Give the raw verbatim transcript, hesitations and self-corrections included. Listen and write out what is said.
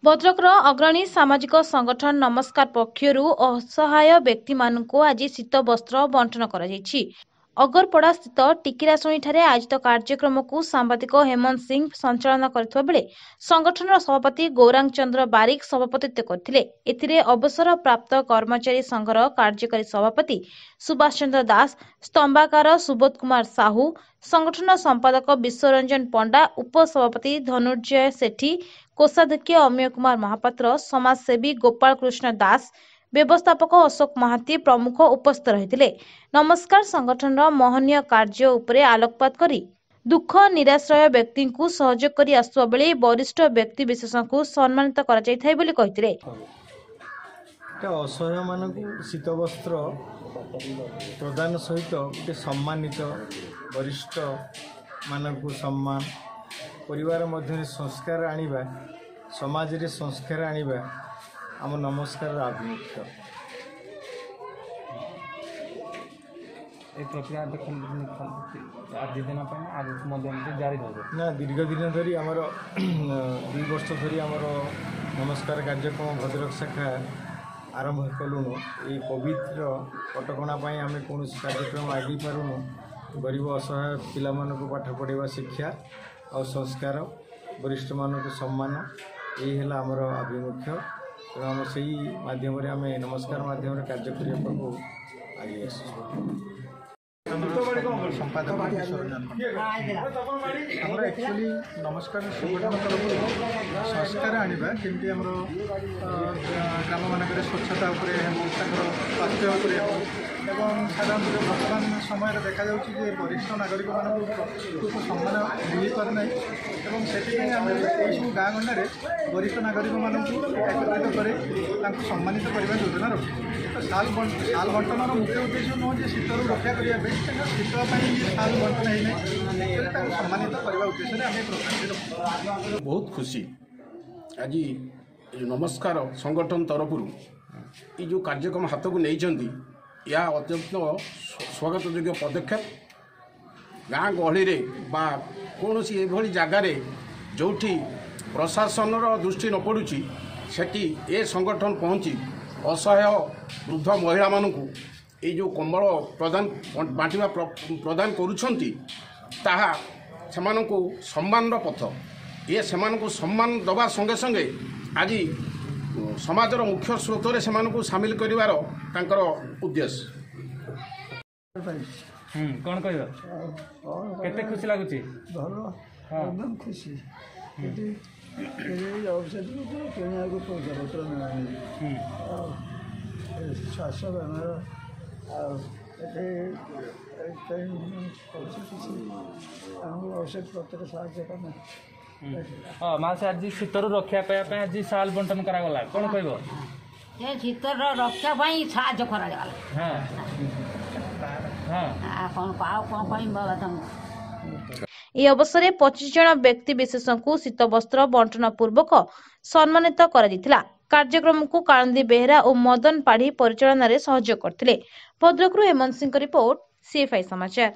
ଭଦ୍ରକର ଅଗ୍ରଣୀ ସାମାଜିକ ସଂଗଠନ ନମସ୍କାର ପକ୍ଷରୁ ଅସହାୟ ବ୍ୟକ୍ତିମାନଙ୍କୁ ଆଜି ଶୀତ ବସ୍ତ୍ର ବଣ୍ଟନ କରାଯାଇଛି। ଅଗରପଡ଼ା ସ୍ଥିତ ଟିକିରାଶୁଣୀଠାରେ ଆୟୋଜିତ କାର୍ଯ୍ୟକ୍ରମକୁ ସାମ୍ବାଦିକ ହେମନ୍ତ ସିଂ ସଞ୍ଚାଳନା କରିଥିବା ବେଳେ ସଂଗଠନର ସଭାପତି ଗୌରାଙ୍ଗ ଚନ୍ଦ୍ର ବାରିକ ସଭାପତିତ୍ୱ କରିଥିଲେ। ଏଥିରେ ଅବସରପ୍ରାପ୍ତ କର୍ମଚାରୀ ସଂଘର କାର୍ଯ୍ୟକାରୀ ସଭାପତି ସୁଭାଷ ଚନ୍ଦ୍ର ଦାସ, ସ୍ତମ୍ଭାକାର ସୁବୋଧ କୁମାର ସାହୁ, ସଂଗଠନ ସମ୍ପାଦକ ବିଶ୍ୱରଞ୍ଜନ ପଣ୍ଡା, ଉପସଭାପତି ଧନୁର୍ଜୟ ସେଠୀ, କୋଷାଧ୍ୟକ୍ଷ ଅମିୟ କୁମାର ମହାପାତ୍ର, ସମାଜସେବୀ ଗୋପାଳ କୃଷ୍ଣ ଦାସ, ବ୍ୟବସ୍ଥାପକ ଅଶୋକ ମହାନ୍ତି ପ୍ରମୁଖ ଉପସ୍ଥିତ ରହିଥିଲେ। ନମସ୍କାର ସଂଗଠନର ମହନୀୟ କାର୍ଯ୍ୟ ଉପରେ ଆଲୋକପାତ କରି ଦୁଃଖ ନିରାଶ୍ରୟ ବ୍ୟକ୍ତିଙ୍କୁ ସହଯୋଗ କରି ଆସୁଥିବା ବେଳେ ବରିଷ୍ଠ ବ୍ୟକ୍ତି ବିଶେଷଙ୍କୁ ସମ୍ମାନିତ କରାଯାଇଥାଏ ବୋଲି କହିଥିଲେ। ଗୋଟେ ଅସହାୟମାନଙ୍କୁ ଶୀତବସ୍ତ୍ର ପ୍ରଦାନ ସହିତ ଗୋଟେ ସମ୍ମାନିତ ବରିଷ୍ଠମାନଙ୍କୁ ସମ୍ମାନ, ପରିବାର ମଧ୍ୟରେ ସଂସ୍କାର ଆଣିବା, ସମାଜରେ ସଂସ୍କାର ଆଣିବା ଆମ ନମସ୍କାରର ଆଭିମୁଖ୍ୟ। এই ପ୍ରକ୍ରିୟା ଆଜି ଦିନ ପାଇଁ ଆଗକୁ ମଧ୍ୟ ଏମିତି ଜାରି ରହିବ ନା? ଦୀର୍ଘ ଦିନ ଧରି ଆମର ଦୁଇ ବର୍ଷ ଧରି ଆମର ନମସ୍କାର କାର୍ଯ୍ୟକ୍ରମ ଭଦ୍ରକ ଶାଖା ଆରମ୍ଭ କଲୁଣୁ। ଏଇ କୋଭିଡ଼ର କଟକଣା ପାଇଁ ଆମେ କୌଣସି କାର୍ଯ୍ୟକ୍ରମ ଆଗେଇ ପାରୁନୁ। ଗରିବ ଅସହାୟ ପିଲାମାନଙ୍କୁ ପାଠ ପଢ଼ାଇବା, ଶିକ୍ଷା ଆଉ ସଂସ୍କାର, ବରିଷ୍ଠମାନଙ୍କୁ ସମ୍ମାନ, ଏଇ ହେଲା ଆମର ଆଭିମୁଖ୍ୟ। ତେଣୁ ଆମେ ସେଇ ମାଧ୍ୟମରେ, ଆମେ ନମସ୍କାର ମାଧ୍ୟମରେ କାର୍ଯ୍ୟ କରିବାକୁ ଆଗେଇ ଆସିଛୁ। ସମ୍ପାଦକ ବିଶ୍ୱରଞ୍ଜନ। ଆମର ଆକ୍ଚୁଆଲି ନମସ୍କାର ସଂଗଠନ ତରଫରୁ ସଂସ୍କାର ଆଣିବା, କେମିତି ଆମର ଗ୍ରାମମାନଙ୍କରେ ସ୍ୱଚ୍ଛତା ଉପରେ ହେଉ, ତାଙ୍କର ସ୍ୱାସ୍ଥ୍ୟ ଉପରେ ହେଉ, ଏବଂ ସାଧାରଣତଃ ବର୍ତ୍ତମାନ ସମୟରେ ଦେଖାଯାଉଛି ଯେ ବରିଷ୍ଠ ନାଗରିକମାନଙ୍କୁ ପ୍ରକୃତ ସମ୍ମାନ ମିଳିପାରୁନାହିଁ, ଏବଂ ସେଥିପାଇଁ ଆମେ ଏଇସବୁ ଗାଁ ଗଣ୍ଡାରେ ବରିଷ୍ଠ ନାଗରିକମାନଙ୍କୁ ଏକତ୍ରିତ କରି ତାଙ୍କୁ ସମ୍ମାନିତ କରିବା ଯୋଜନା ରଖିଛୁ। ତ ଶାଲ ଶାଲ ବଣ୍ଟନର ମୁଖ୍ୟ ଉଦ୍ଦେଶ୍ୟ ନୁହଁ ଯେ ଶୀତରୁ ରକ୍ଷା କରିବା ପାଇଁ, ଶୀତ ପାଇଁ ଶାଲ ବଣ୍ଟନ ହେଇନାହିଁ, ଆକ୍ଚୁଆଲି ତାଙ୍କୁ ସମ୍ମାନିତ କରିବା ଉଦ୍ଦେଶ୍ୟରେ ଆମେ ପ୍ରୋଗ୍ରାମଟି ରଖୁଛୁ। ବହୁତ ଖୁସି ଆଜି ନମସ୍କାର ସଂଗଠନ ତରଫରୁ ଏଇ ଯେଉଁ କାର୍ଯ୍ୟକ୍ରମ ହାତକୁ ନେଇଛନ୍ତି, ଏହା ଅତ୍ୟନ୍ତ ସ୍ୱାଗତଯୋଗ୍ୟ ପଦକ୍ଷେପ। ଗାଁ ଗହଳିରେ ବା କୌଣସି ଏଭଳି ଜାଗାରେ ଯେଉଁଠି ପ୍ରଶାସନର ଦୃଷ୍ଟି ନ ପଡ଼ୁଛି, ସେଠି ଏ ସଂଗଠନ ପହଞ୍ଚି ଅସହାୟ ବୃଦ୍ଧ ମହିଳାମାନଙ୍କୁ ଏଇ ଯେଉଁ କମ୍ବଳ ପ୍ରଦାନ ବାଣ୍ଟିବା ପ୍ରଦାନ କରୁଛନ୍ତି, ତାହା ସେମାନଙ୍କୁ ସମ୍ମାନର ପଥ। ଇଏ ସେମାନଙ୍କୁ ସମ୍ମାନ ଦେବା ସଙ୍ଗେ ସଙ୍ଗେ ଆଜି ସମାଜର ମୁଖ୍ୟ ସ୍ରୋତରେ ସେମାନଙ୍କୁ ସାମିଲ କରିବାର ତାଙ୍କର ଉଦ୍ଦେଶ୍ୟ। କ'ଣ କହିବ, କେତେ ଖୁସି ଲାଗୁଛି? ଭଲ, ଏକଦମ ଖୁସି। ଏଠି ଔଷଧ କିଣିବାକୁ ପଇସା ପତ୍ର ମିଳୁନି, ଆଉ ଶ୍ୱାସ ବେମାର, ଆଉ ଏଠି କିଛି ଆମକୁ ଔଷଧ ପତ୍ର ସାହାଯ୍ୟ କଲେ। ହଁ ମାଉସୀ, ଆଜି ଶୀତରୁ ରକ୍ଷା ପାଇବା ପାଇଁ ଆଜି ଶାଲ ବଣ୍ଟନ କରାଗଲା, କ'ଣ କହିବ? ସେ ଶୀତର ରକ୍ଷା ପାଇଁ ସାହାଯ୍ୟ କରାଗଲା। ହଁ ହଁ, ଆଉ କ'ଣ ଆଉ କ'ଣ କହିବି ବାବା ତମକୁ? ଏହି ଅବସରରେ ପଚିଶ ଜଣ ବ୍ୟକ୍ତି ବିଶେଷଙ୍କୁ ଶୀତବସ୍ତ୍ର ବଣ୍ଟନ ପୂର୍ବକ ସମ୍ମାନିତ କରାଯାଇଥିଲା। କାର୍ଯ୍ୟକ୍ରମକୁ କାଳନ୍ଦୀ ବେହେରା ଓ ମଦନ ପାଢ଼ୀ ପରିଚାଳନାରେ ସହଯୋଗ କରିଥିଲେ। ଭଦ୍ରକରୁ ହେମନ୍ତ ସିଂଙ୍କ ରିପୋର୍ଟ, ସିଏଫଆଇ ସମାଚାର।